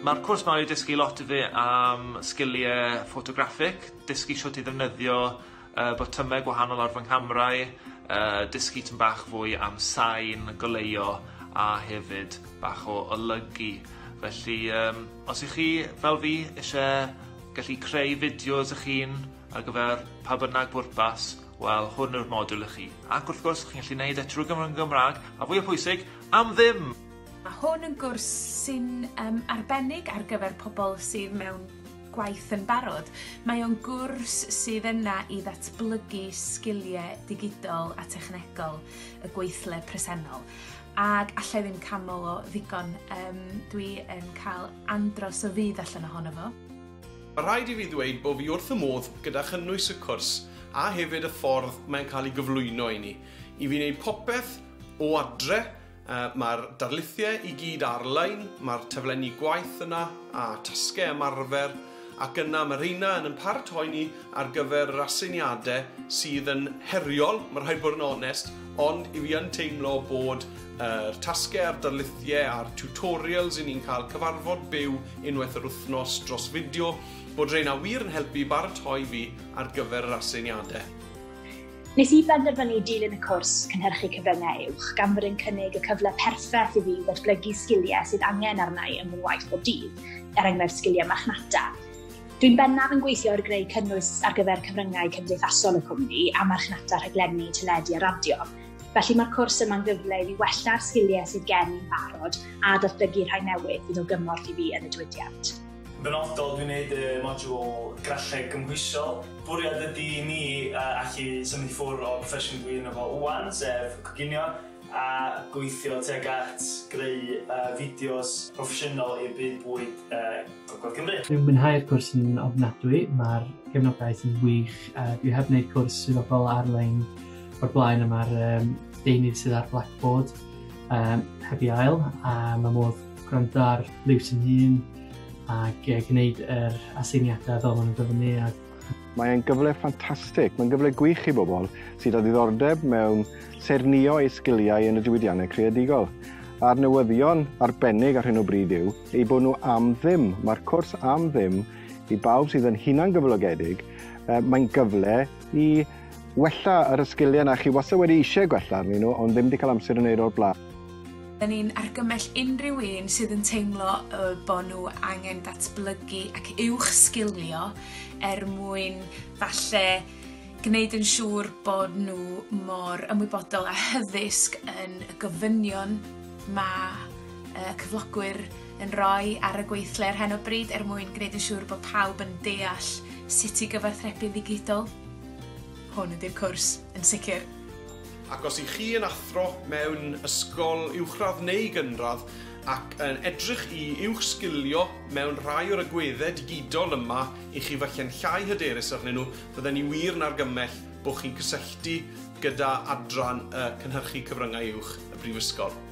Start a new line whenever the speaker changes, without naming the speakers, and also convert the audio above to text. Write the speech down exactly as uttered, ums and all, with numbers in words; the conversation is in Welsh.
Mae'r cwrs 'ma wedi dysgu lot i fi am sgiliau ffotograffig, dysgu shwt i ddefnyddio uh, botymau gwahanol ar fy nghamrau, uh, dysgu tym bach fwy am sain, goleuo a hefyd bach o olygu. Felly, um, os ych chi, fel fi, eisiau gallu creu fideos eich hun ar gyfer pa bynnag bwrpas, wel, hwn yw'r modiwl i chi. Ac wrth gwrs, chi'n gallu gwneud e trwy gyfrwng Gymraeg, a fwy o pwysig, am ddim!
Mae hwn yn gwrs sy'n um, arbennig ar gyfer pobl sydd mewn gwaith yn barod. Mae o'n gwrs sydd yna i ddatblygu sgiliau digidol a technegol y gweithle presennol. Ac allai ddim canmol o ddigon, um, dwi yn cael andros o fudd allan ohono fo.
Mae rhaid i fi ddweud bod fi wrth y modd gyda chynnwys y cwrs a hefyd y ffordd mae'n cael ei gyflwyno i ni. I fi wneud popeth o adre. Mae'r darlithiau i gyd ar-lein, mae'r taflenni gwaith yna a tasgau ymarfer, ac yna mae rheina yn yn paratoi ni ar gyfer yr aseiniadau sydd yn heriol, mae rhaid bod yn onest, ond i fi yn teimlo bod yr tasgau a'r darlithiau a'r tutorials i ni'n cael cyfarfod byw unwaith yr wythnos dros fideo, bod rheina wir yn helpu i baratoi fi ar gyfer yr aseiniadau.
Nes i benderfynu dilyn y cwrs cynhyrchu cyfryngau uwch gan fod yn cynnig y cyfle perffaith i fi ddatblygu sgiliau sydd angen arna i yn fy ngwaith bob dydd, er enghraifft sgiliau marchnata. Dwi'n bennaf yn gweithio ar greu cynnwys ar gyfer cyfryngau cymdeithasol y cwmni a marchnata rhaglenni, teledu a radio. Felly mae'r cwrs yma'n gyfle i fi wella'r sgiliau sydd gen i'n barod a datblygu rhai newydd fydd o gymorth i fi yn y diwydiant.
Benodol, dwi'n gwneud y modiwl graffeg gymhwysol. Bwriad ydy i mi uh, allu symud i ffwrdd o'r proffesiwn dwi yno fo wan, sef coginio, a gweithio tuag at greu uh, fideos proffesiynol i'r byd bwyd uh, Gogledd Cymru.
Dwi'n mwynhau'r cwrs yn ofnadwy, mae'r gefnogaeth yn wych. Uh, dwi heb wneud cwrs swyddogol ar-lein o'r blaen, a mae'r um, deunydd sydd ar Blackboard um, heb ei ail, a mae modd gwrando ar liws yn hun ac gwneud yr aseiniadau fel maen nhw'n gofynnu.
Mae'n gyfle ffantastig, mae'n gyfle gwych i bobl sydd â ddiddordeb mewn saernïo eu sgiliau yn y diwydiannau creadigol. A'r newyddion arbennig ar hyn o bryd yw eu bod nhw am ddim. Mae'r cwrs am ddim i bawb sydd yn hunangyflogedig. Mae'n gyfle i wella yr sgiliau na chi wastad wedi eisiau gwella arnyn nhw, ond ddim wedi cael amser yn wneud o'r blaen.
Da ni'n argymell unrhyw un sydd yn teimlo bod nhw angen datblygu ac uwch sgilio er mwyn falle gwneud yn siŵr bod nhw mor ymwybodol a hyddysg yn y gofynion mae cyflogwyr yn rhoi ar y gweithle ar hyn o bryd er mwyn gwneud yn siŵr bod pawb yn deall sut i gyfathrebu'n ddigidol. Hwn ydy'r cwrs, yn sicr.
Ac os ych chi yn athro mewn ysgol uwchradd neu gynradd ac yn edrych i uwchsgilio mewn rhai o'r agweddau digidol yma i chi falle'n llai hyderus arnyn nhw, fydden ni wir yn argymell bod chi'n cysylltu gyda adran y cynhyrchu cyfryngau uwch y Brifysgol.